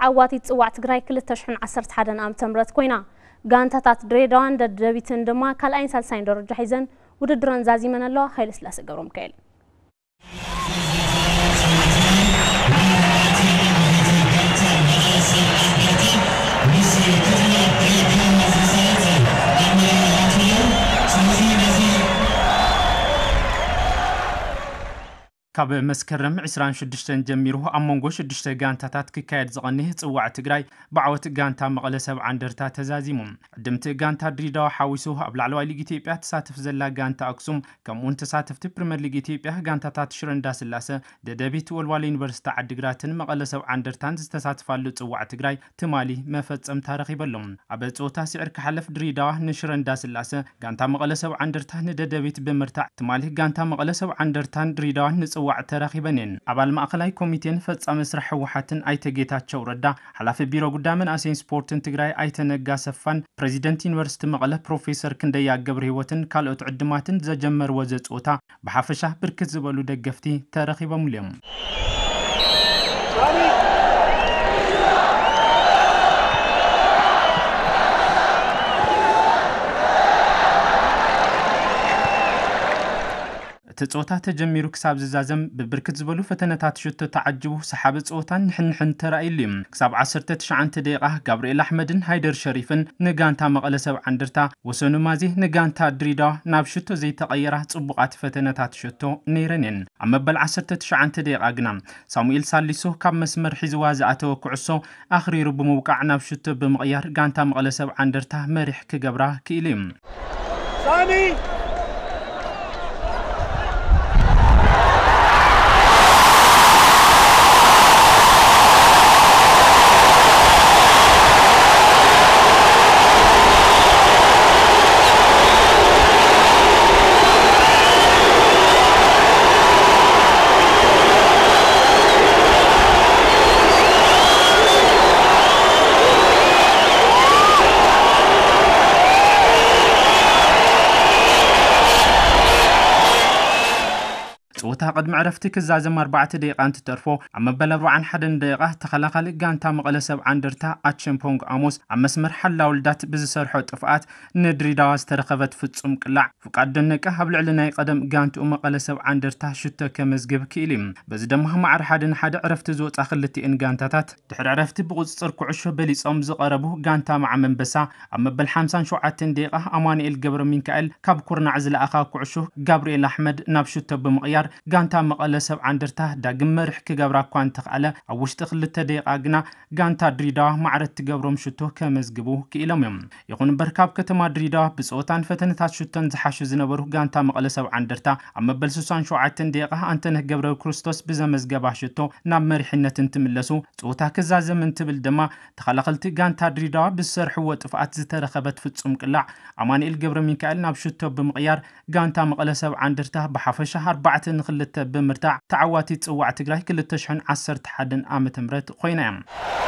ተዓዋቲት ጽዋዕ ትግራይ ክልተ ሽሕን ዓሰርተ ሓደን ዓመተ ምህረት ኮይና። ጋንታታት ድሬዳዋን ደደቢትን ድማ ካልኣይን ሳልሳይን ደረጃ ሒዘን ውድድረን ዛዚመን ኣለዋ። ሃይለስላሴ ገብረሚካኤል። ካብ መስከረም ዕስራን ሽዱሽተን ጀሚሩ ኣብ መንጎ ሽዱሽተ ጋንታታት ክካየድ ዝቐንየ ጽዋዕ ትግራይ ብዓወት ጋንታ መቐለ ሰብዓ እንደርታ ተዛዚሙ። ዕድምቲ ጋንታ ድሬዳዋ ሓዊሱ ኣብ ላዕለዋይ ሊግ ኢትዮጵያ ትሳተፍ ዘላ ጋንታ ኣክሱም፣ ከምኡውን ተሳተፍቲ ፕሪምየር ሊግ ኢትዮጵያ ጋንታታት ሽረ እንዳስላሰ፣ ደደቢት፣ ወልዋሎ ዩኒቨርሲቲ ዓዲግራትን መቐለ ሰብዓ እንደርታን ዝተሳተፋሉ ጽዋዕ ትግራይ ትማሊ መፈጸምታ ረኺበሎም። ኣብ ጸወታ ስዒር ክሓለፍ ድሬዳዋ ንሽረ እንዳስላሰ፣ ጋንታ መቐለ ሰብዓ እንደርታ ንደደቢት ብምርታዕ ትማሊ ጋንታ መቐለ ሰብዓ እንደርታን ድሬዳዋን ንጽዋዕ ተራኺበን እየን። ኣባል ማእኸላይ ኮሚቴን ፈጻሚ ስራሕ ህወሓትን ኣይተ ጌታቸው ረዳ፣ ሓላፊ ቢሮ ጉዳይ መናእሰይን ስፖርትን ትግራይ ኣይተ ነጋ ሰፋን፣ ፕሬዚደንት ዩኒቨርሲቲ መቐለ ፕሮፌሰር ክንደያ ገብረ ህይወትን ካልኦት ዕድማትን ዘጀመርዎ ዘጽወታ ብሓፈሻ ብርክት ዝበሉ ደገፍቲ ተረኺቦምሉ እዮም። እቲ ጸወታ ተጀሚሩ ክሳብ ዝዛዘም ብብርክት ዝበሉ ፈተነታት ሽቶ ተዓጅቡ ሰሓቢ ጸወታን ንሕንሕን ተራእዩሉ እዩ። ክሳብ ዓሰርተ ትሽዓተ ደቂቓ ጋብርኤል ኣሕመድን ሃይደር ሸሪፍን ንጋንታ መቐለ ሰብዓ እንደርታ፣ ወሰኑ ማዜ ንጋንታ ድሬዳዋ ናብ ሽቶ ዘይተቐየራ ጽቡቓት ፈተነታት ሽቶ ነይረን እየን። ኣብ መበል ዓሰርተ ትሽዓተ ደቂቓ ግና ሳሙኤል ሳሊሶ ካብ መስመር ሒዝዋ ዝኣተወ ኩዕሶ ኣኽሪሩ ብምውቃዕ ናብ ሽቶ ብምቕያር ጋንታ መቐለ ሰብዓ እንደርታ መሪሕ ክገብራ ክኢሉ እዩ። ሳሚ! ጸወታ ቅድሚ ዕረፍቲ ክዛዘም ኣርባዕተ ደቂቓ እንትተርፎ፣ ኣብ መበል ኣርባዓን ሓደን ደቂቓ ተኸላኻሊ ጋንታ መቐለ ሰብዓ እንደርታ ኣቸምፖንግ ኣሞስ ኣብ መስመር ሓላውልዳት ብዝሰርሖ ጥፍኣት ንድሬዳዋ ዝተረኸበት ፍጹም ቅላዕ ፍቃድ ደነቀ ኣብ ልዕሊ ናይ ቀደም ጋንትኡ መቐለ ሰብዓ እንደርታ ሽቶ ከመዝግብ ክኢሉ እዩ። በዚ ድማ ማዕረ ሓደ ንሓደ ዕረፍቲ ዝወጻ ክልቲኤን ጋንታታት ድሕሪ ዕረፍቲ ብቁጽጽር ኩዕሾ በሊጾም ዝቐረቡ ጋንታ መዓም ኣንበሳ ኣብ መበል ሓምሳን ሸውዓተን ደቂቓ ኣማኑኤል ገብረ ሚካኤል ካብ ኩርናዕ ዝለኣኻ ኩዕሾ ጋብርኤል ኣሕመድ ናብ ሽቶ ብምቕያር ጋንታ መቐለ ሰብዓ እንደርታ ዳግም መሪሕ ክገብራ እኳ እንተኽኣለ፣ ኣብ ውሽጢ ክልተ ደቂቓ ግና ጋንታ ድሬዳዋ ማዕረ እትገብሮም ሽቶ ከመዝግቡ ክኢሎም እዮም። ይኹን እምበር ካብ ከተማ ድሬዳዋ ብጸወታን ፈተነታት ሽቶን ዝሓሹ ዝነበሩ ጋንታ መቐለ ሰብዓ እንደርታ ኣብ መበል ስሳን ሸውዓተን ደቂቓ ኣንተነህ ገብረ ክርስቶስ ብዘመዝገባ ሽቶ ናብ መሪሕነት እንትምለሱ፣ ጸወታ ክዛዘም እንትብል ድማ ተኸላኸልቲ ጋንታ ድሬዳዋ ብዝሰርሕዎ ጥፍኣት ዝተረኸበት ፍጹም ቅላዕ ኣማኑኤል ገብረ ሚካኤል ናብ ሽቶ ብምቕያር ጋንታ መቐለ ሰብዓ እንደርታ ብሓፈሻ ኣርባዕተ ንኽልተ ብምርታዕ ተዓዋቲት ጽዋዕ ትግራይ ክልተ ሽሕን ዓሰርተ ሓደን ዓመተ ምህረት ኮይና እያ።